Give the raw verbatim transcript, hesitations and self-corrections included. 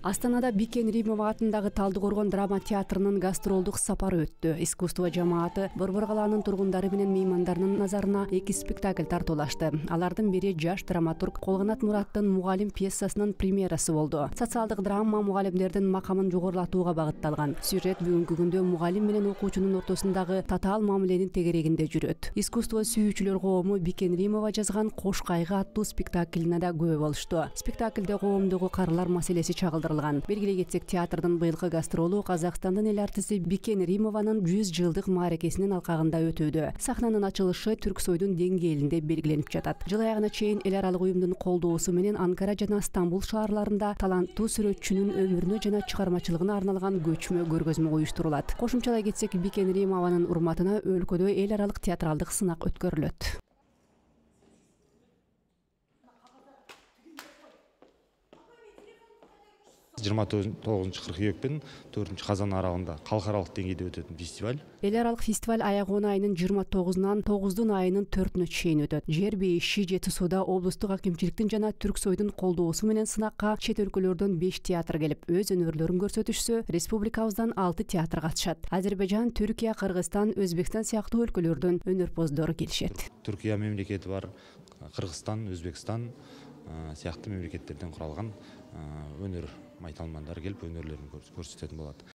Астанада Бикен Римова атындагы Талдыкоргон драма театрынын гастролдук сапары өттү. Искусство жамааты Борбор калаанын тургундары менен меймандарынын назарына эки спектакль тартуулашты. Алардын бири жаш драматург Колгонат Мураттын Мугалим пьесасынын премьерасы болду. Социалдык драма мугалимдердин макамын жогорулатууга багытталган. Сюжет бүгүнкү күндө мугалим менен окуучунун ортосундагы татаал мамиленин тегерегинде жүрөт. Искусство сүйүүчүлөр коому Бикен Римова жазган Кош кайгы аттуу спектаклине да күбө болушту. Спектакльде коомдогу карылар маселеси чагылдырылган. Белгилей кетсек, театрдын быйылкы гастролу Казакстандын эл артисти Бикен Римованын жүз жылдык мааракесинин алкагында өтүүдө. Сахнанын ачылышы Түрксойдун деңгээлинде белгиленип жатат. Жыл аягына чейин эл аралык уюмдун колдоосу менен Анкара жана Стамбул шаарларында таланттуу сүрөтчүнүн өмүрүнө жана чыгармачылыгына арналган көчмө көргөзмө уюштурулат. Кошумчалай кетсек, Бикен Римованын урматына өлкөдө эл аралык театралдык сынак өткөрүлөт. жыйырма тогузунчу кыркүйек менен төртүнчү казан аралыгында калкаралык деңгейде өтөтүн фестиваль. Эл аралык фестиваль аягон айынын жыйырма тогузунан тогуздун айынын төртүнө чейин өтөт. Жер бейиши Жети сууда облустук акимчиликтин жана Түрксойдун колдоосу менен сынакка чет өлкөлөрдөн беш театр келип, өз өнөрлөрүн көрсөтүшсө, республикабыздан алты театр катышат. Азербайжан, Түркия, Кыргызстан, Өзбекстан сыяктуу өлкөлөрдөн өнөрпоздор келишет. Түркия мемлекети бар, Кыргызстан, Өзбекстан сыяктуу мемлекеттерден куралган өнөр майталмандары келип өнөрлөрүн көрсөтөтүн болот.